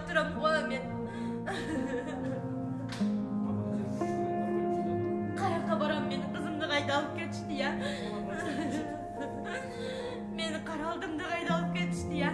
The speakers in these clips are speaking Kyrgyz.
турам го мен. Каяка барам, менин кызымды кайда алып кетишти я. Мени каралдымды кайда алып кетишти я.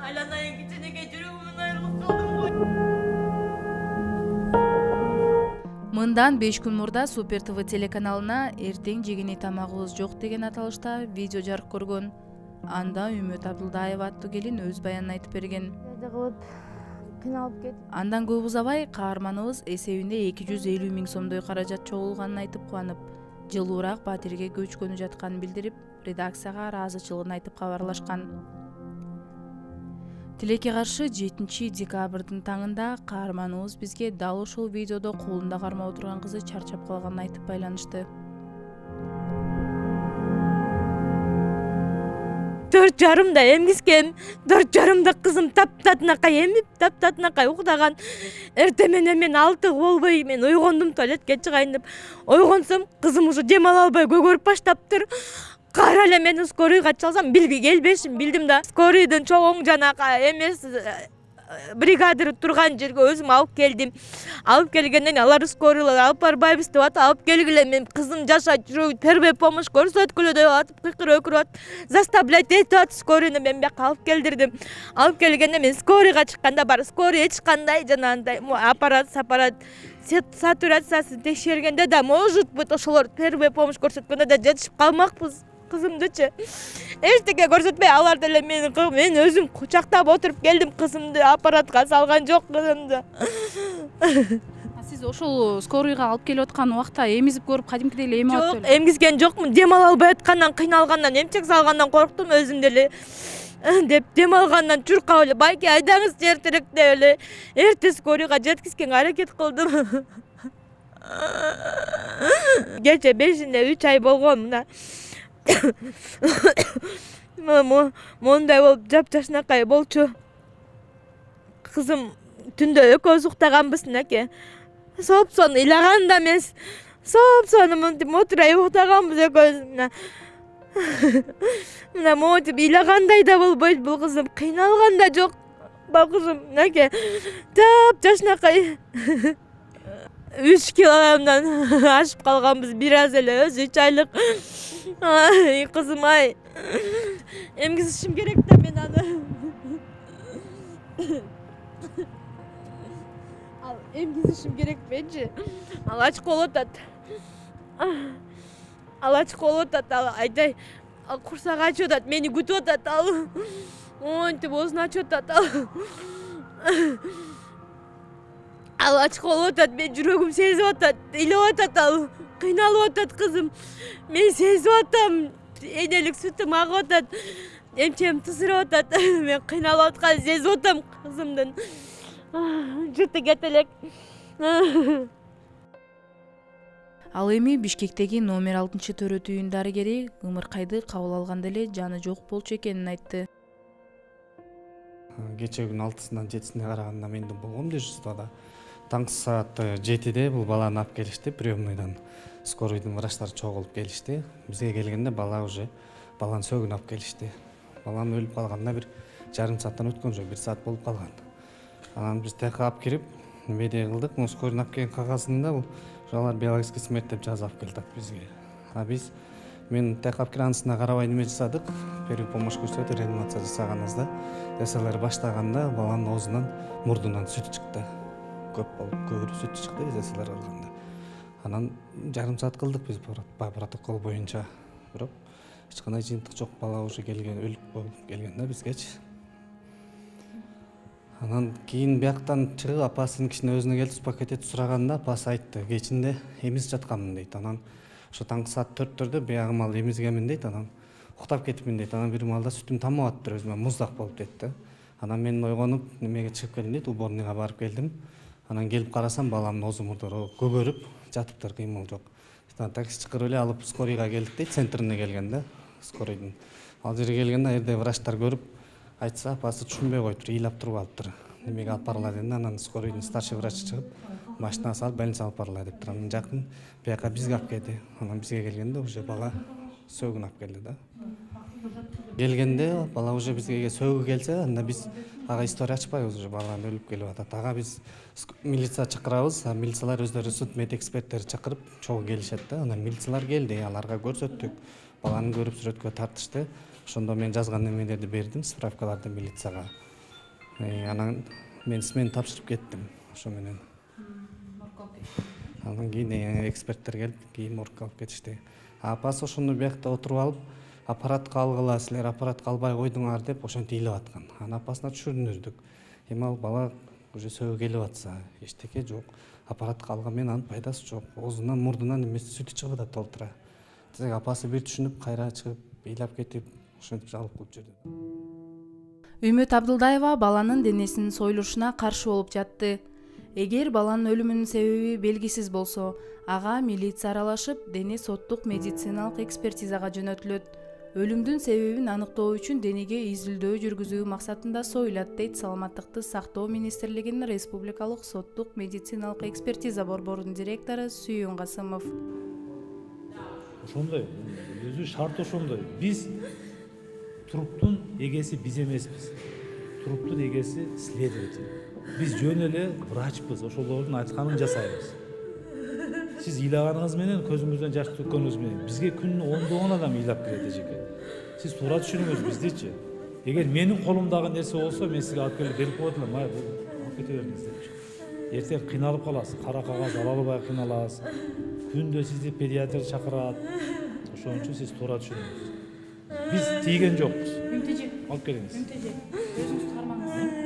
Айланайын кичинекей жүрөгүмдөн айрылып калдым го. Мындан 5 күн мурда Супер ТВ телеканалына эртең жегени тамагыбыз жок деген аталышта видео жарык көргөн. Анда Үмүт Абдылдаева аттуу келин өз баянын айтып берген. Андан көп узабай каарманыбыз эсебинде 250 000 сомдой каражат чогулганын айтып кубанып, жылуураак Батирге көчкөнү жатканын билдирип, редакцияга ыраазычылыгын айтып кабарлашкан. Тилекке каршы 7 декабрдын таңында каарманыбыз бизге дал ошол видеодо колунда кармап отурган кызы чарчап калганын айтып байланышты. 4,5-да эмгискем, 4,5-да кызым таптатынакай эмип, таптатынакай уктаган. Эртең менен мен 6 болбой, мен ойгондум туалетке чыгайын деп. Ойгонсом, кызым уже дем ала албай көгөрүп баштаптыр. Кайра эле мени скорыйга чалсам, келбешим билдим да. Скорыйдын чоң жанакы эмес бригадир турган жерге өзүм алып келдим. Алып келгенден алар скорыйлар алып барбайбыз деп атып, алып келгиле, мен кызым жашайт, жүрөк первый помощь көрсөткүлө деп атып, кыйкырып атып, заставлять этип атып, скорыйны мен бияка алып келдирдим. Алып келгенде мен скорыйга чыкканда бар, скорый эч кандай жанагындай аппарат сатурациясын текшергенде да, может быть, ошолор первый помощь көрсөткөндө да жетишип калмакпыз. Кызымдычы эчтеке көрсөтпөй алар деле мен өзүм кучактап отуруп келдим, кызымды аппаратка салган жок кызымды. Сиз ошол скорыйга алып келип аткан убакта эмизип көрүп, кадимкидей эле эме алып Жок, эмгизген жокмун. Дем ала албай аткандан, кыйналгандан, эмчек салгандан корктум өзүм деле. Деп дем алгандан чуркап эле, байке айдаңыз эртерээк деп эле эрте скорыйга жеткизгенге аракет кылдым. Кече 5-inde 3 ай болгон мына. Мондай болуп жапжашынакай болчу. Кызым түндө экөөбүз уктаганбыз наке. Сопсон ыйлаган да эмес. Сопсон мынтип отурайып уктаганбыз экөөбүз. Мына монтип ыйлагандай да болбойт бул кызым, кыйналган да жок. Бал кызым наке. Жапжашынакай. 3 килограммдан ашып калганбыз бир аз эле, өзү 3 айлык. Ай, кызым ай. Эмгизишим керек да мен аны. Ал эмгизишим керек менчи. Ал ачык болуп атат. Ал ачык болуп атат, ал айдай. Ал курсак ачып атат, мени күтүп атат ал. Монтип оозун ачып атат. Ал ачык болуп атат, мен жүрөгүм сезип атат, ыйлап атат ал. Кыйналып атат кызым. Мен сезип атам. Энелик сүтүм агып атат. Эмчем тызырып атат. Мен кыйналып атканын сезип атам кызымдын. Жыты кете элек. Ал эми Бишкектеги номер 6-төрөт үйүн дарыгери ымыркайды кабыл алганда эле жаны жок болчу экенин айтты. Кече күн 6-сынан 7-сине караганда мен болгом дежурствода. Таңкы саат 7-де бул баланы алып келишти, приемныйдан. Скорыйдын врачтары чогулуп келишти. Бизге келгенде бала уже баланы сөгүн алып келишти. Баланын өлүп калганына бир жарым сааттан өткөн жок, 1 саат болуп калган. Анан биз текка алып кирип, медиа кылдык. Скорыйдын алып келген кагазында бул алар биологический смерть деп жазып алып келди бизге. Мен текка алып кирип анысына карабай неме жасадык. Первый помощь көрсөтүп реанимация жасаганыбызда СЛР баштаганда баланын оозунан, мурдунан сүт чыкты. Көп болуп, көбүрөөк сүт чыкты СЛР кылганда. Анан жарым саат кылдык биз протокол боюнча. Бирок эч кандай жыйынтык жок, бала уже келген, өлүп болуп келген да бизгечи. Анан кийин бияктан чыгып апасын кичине өзүнө келип пакетет сураганда апасы айтты, кечинде эмизип жатканмын дейт. Анан ошо таңкы саат 4-төрдө биягым ал эмизгенмин дейт. Анан уктап кетипмин дейт. Анан бир маалда сүтүм тамып атыптыр, өзүмө муздак болуп дейт да. Анан мен ойгонуп немеге чыгып келдим дейт, уборныйга барып келдим. Анан келип карасам баламдын оозу мурдары көгөрүп жатыптыр, кыймыл жок. Такси чакырып эле алып скорыйга келдик дейт, центрине келген да, скорыйдын. Ал жерге келгенде жерде врачтар көрүп, айтса апасы түшүнбөй коюптур, ыйлап туруп алыптыр. Немеге алып баргыла дегенде анан скорыйдын старший врачы чыгып, машинага салып больницага алып баргыла дептир. Анан жакын бияка бизге алып келди. Анан бизге келгенде уже бала сөгүн алып келди да. Келгенде бала уже бизге сөөгү келсе, анда биз ага история ачпайбыз, уже баланын өлүп келип атат. Ага биз милиция чакырабыз, милициялар өздөрү суд мед эксперттери чакырып чогуу келишет да. Анан милициялар келди, аларга көрсөттүк. Баланы көрүп сүрөткө тартышты. Ошондо мен жазган немелерди бердим, справкаларды милицияга. Анан мен смену тапшырып кеттим ошо менен. Анан кийин эксперттер келип, кийин моргко алып кетишти. Апасы ошондо биякта отуруп алып, аппаратка алгыла, силер аппаратка албай койдуңар деп ошентип ыйлап аткан. Анан апасына түшүндүрдүк. Эми ал бала уже сөөгү келип атса, эчтеке жок. Аппаратка алган менен анын пайдасы жок. Оозунан, мурдунан эмеси сүтү чыгып атат толтура. Десек апасы бир түшүнүп, кайра чыгып, ыйлап кетип, ошентип алып кылып жүрдү. Үмүт Абдылдаева баланын денесинин союлушуна каршы болуп жатты. Эгер баланын өлүмүнүн себеби белгисиз болсо, ага милиция аралашып, дене соттук медициналык экспертизага жөнөтүлөт. Өлүмдүн себебин аныктоо үчүн денеге изилдөө жүргүзүү максатында союлат, дейт Саламаттыкты сактоо министрлигинин республикалык соттук медициналык экспертиза борборунун директору Сүйүн Касымов. Ошондой, өзү шарт ошондой. Биз труптун эгеси биз эмеспиз. Труптун эгеси следователь. Биз жөн эле врачпыз, ошолордун айтканын жасайбыз. Сиз ыйлаганыңыз менен, көзүңүздөн жаш төккөнүңүз менен бизге күнүнө ондогон адам ыйлап келет эжеке. Сиз туура түшүнүңүз биздичи. Эгер менин колумдагы нерсе болсо, мен сизге алып келип берип коет элем, алып кете бериңиз депчи. Эртең кыйналып каласыз, кара кагаз ала албай кыйналасыз. Күндө сизди педиатр чакырат. Ошон үчүн сиз туура түшүнүңүз. Биз тийген жокпуз. Үнтежи, Алып келиңиз. Үнтежи, өзүңүз кармаңыз.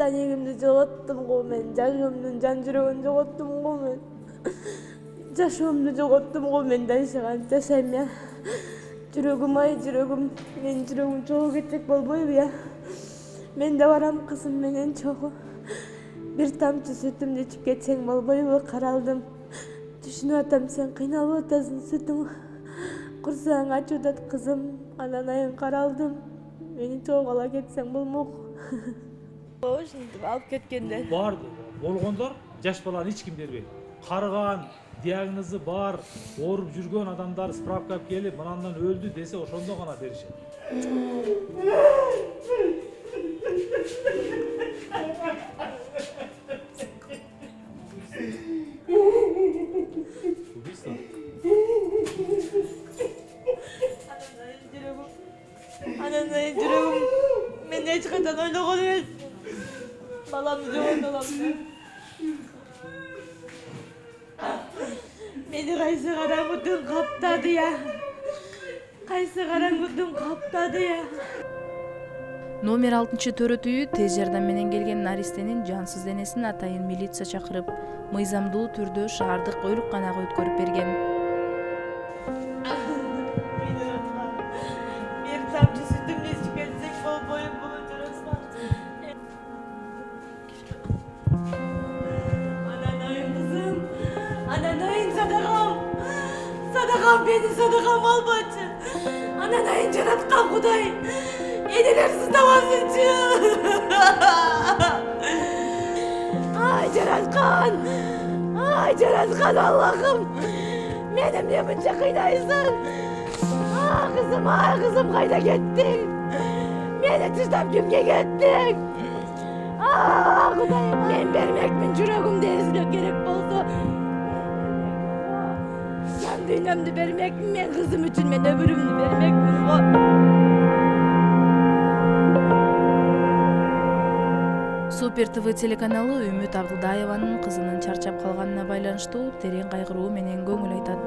Данегимди жоготтум го мен, жашоомдун жан жүрөгүн жоготтум го мен. Жашоомду жоготтум го мен, дайыша кантип жашайм я. Жүрөгүм ай, жүрөгүм, менин жүрөгүм чогуу кетсек болбойбу я. Мен да барам кызым менен чогуу. Бир тамчы сүтүмдү ичип кетсең болбойбу, каралдым. Түшүнүп атам, сен кыйналып атасың, сүтүң курсагың ачып атат кызым. Анан айын каралдым. Мени чогуу ала кетсең болмок. Ошентип алып кеткенде. Бар болгондор жаш баланы эч ким бербейт. Карыган, диагнозу бар, ооруп жүргөн адамдар справка алып келип, мынандан өлдү десе, ошондо гана беришет. Анан жүрөгүм мен эч качан ойлогон эмес. Баламды жоготолом деп. Мени кайсы караңгы түн каптады я. Кайсы караңгы түн каптады я. Номер 6-төрөтүйү тез жардам менен келген наристенин жансыз денесин атайын милиция чакырып, мыйзамдуу түрдө шаардык ооруканага өткөрүп берген. Бир тамчы сүтүмдү ичип кетсек болбойбу, жараспан. Анан айын кызым, анан айын садагам. Садагам, мени садагам албачы. Анан айын жараткан Кудай энелер сыздабасынчы. Ай жараткан Аллахым, мени эмне мынча кыйнайсың? Ай кызым, кайда кеттиң? Мени таштап кимге кеттиң? Кудайым, мен бермекмин жүрөгүмдү эзилөө керек болсо. Жан дүйнөмдү бермекмин, мен кызым үчүн мен өмүрүмдү бермекмин го. Супер ТВ телеканалы Үмүт Абдылдаеванын кызынын чарчап калганына байланыштуу терең кайгыруу менен көңүл айтат.